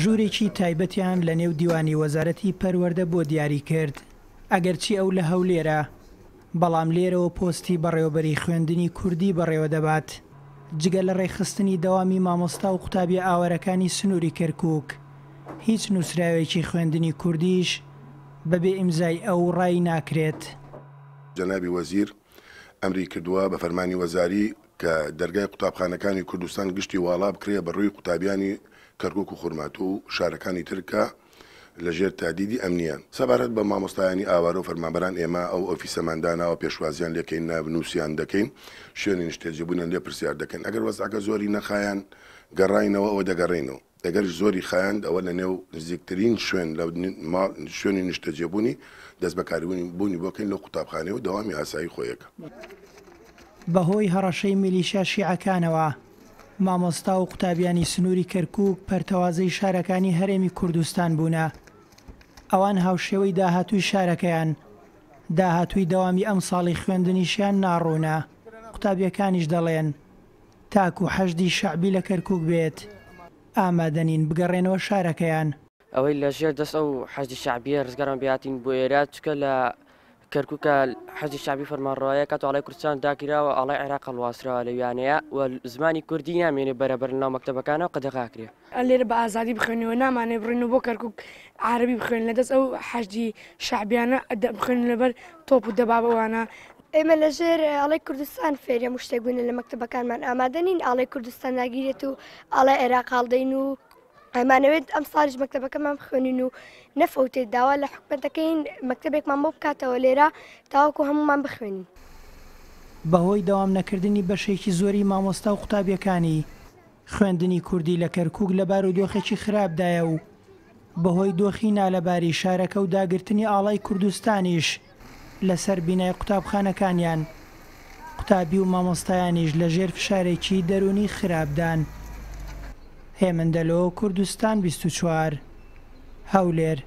ژوورێکی تایبەتیان لە نێو دیوانی وەزارەتی پەروەردە بۆ دیاری کرد، ئەگەرچی ئەو لە هەولێرە، بەڵام لێرەوە پۆستی بەڕێوەبەری خوێندنی کوردی بەڕێوە دەبات، جگە لە ڕێکخستنی دەوامی مامۆستا و قوتابیە ئاوارەکانی سنووری کەرکووک، هیچ نووسراوێکی خوێندنی کوردیش بەبێ ئیمزای ئەو ڕایی ناکرێت. جەنابی وەزیر ئەمری کردووە بە فەرمانی وەزاری کە دەرگای قوتابخانەکانی کوردستان گشتی واڵا بکرێ بە ڕووی قوتابیانی کەرکوک و خورماتوو و شارەکانی تر کە لە ژێر تادیدی ئەمنیان. سەبارەت بە مامۆستایانی ئاوارە و فەرمانبەران ئێمە ئەو ئۆفیسەمان داناوە پێشوازیان لێ کەین ناونووسیان دەکەین شوێنی نیشتەجێبوونیان لێ پرسیار دەکەین ئەگەر وەزعەکە زۆری نەخایاند گەڕاینەوە ئەوە دەگەڕێینەوە. ئەگەریش زۆری خایاند ئەوە لە نێو نزیکترین شوێن لە ماڵ شوێنی نیشتەجێبوونی دەست بەکاربوونی بوونی بۆ کەین لەو قوتابخانەیە و دەوامی ئاسایی خۆیەکە. بەهۆی هەڕەشەی میلیشیا شیعەکانەوە، مامۆستا و قوتابیانی سنووری کەرکووک پەرتەوازەی شارەکانی هەرێمی کوردستان بوونە. ئەوان هاوشێوەی داهاتووی شارەکەیان، داهاتووی دەوامی ئەمساڵی خوێندنیشیان ناڕوونە. قوتابییەکانیش دەڵێن، تاکو حەشدی شەعبی لە کەرکوک بێت ئامادەنین بگەڕێنەوە شارەکەیان. ئەوەی لە ژێر دەست ئەو حەشدی شەعبیە ڕزگارمان بێ هاتین بۆ ئێرە چونکە لە کەرکوکە حەشدی شەعبی فەرمانڕەوایە کات ئاڵای کوردستان داگیراوە ئاڵای عێراق هەڵواسراوە لە ویانەیە و زمانی کوردی نامێنێ بەرەبەر لەناو مەکتەبەکانەوە قەدەغە ئەکرێ. لێرە بە ئازادی بخوێنین و نامانەوێ بڕۆین بۆ کەرکوک عارەبی بخوێنین لە دەست ئەو حەشدی شەعبیانە بخوێنین لەبەر تۆپ و دەبابە وانە. ئێمە لە ژێر ئاڵای کوردستان فێری هەموو شتێک بووینە لە مەکتەبەکانمان ئامادە نین ئاڵای کوردستان ناگیرێت و ئاڵای عێراق هەڵدەین و ئەمانەوێت ئەم ساڵیش مەکتەبەکەمان بخوێنین و نەفەوتێت داوا لە حکومەت دەکەین مەکتەبێکمان بۆ بکاتەوە لێرە تاوەکو هەموومان بخوێنین. بەهۆی دەوام نەکردنی بەشێکی زۆری مامۆستا و قوتابیەکانی، خوێندنی کوردی لە کەرکووک لە بارودۆخێکی خراپدایە و بەهۆی دۆخی نالەباری شارەکە و داگرتنی ئاڵای کوردستانیش لەسەر بینای قوتابخانەکانیان، قوتابی و مامۆستایانیش لەژێر فشارێکی دەروونی خراپدان. هێمن دەلۆ، کوردستان 24، هەولێر.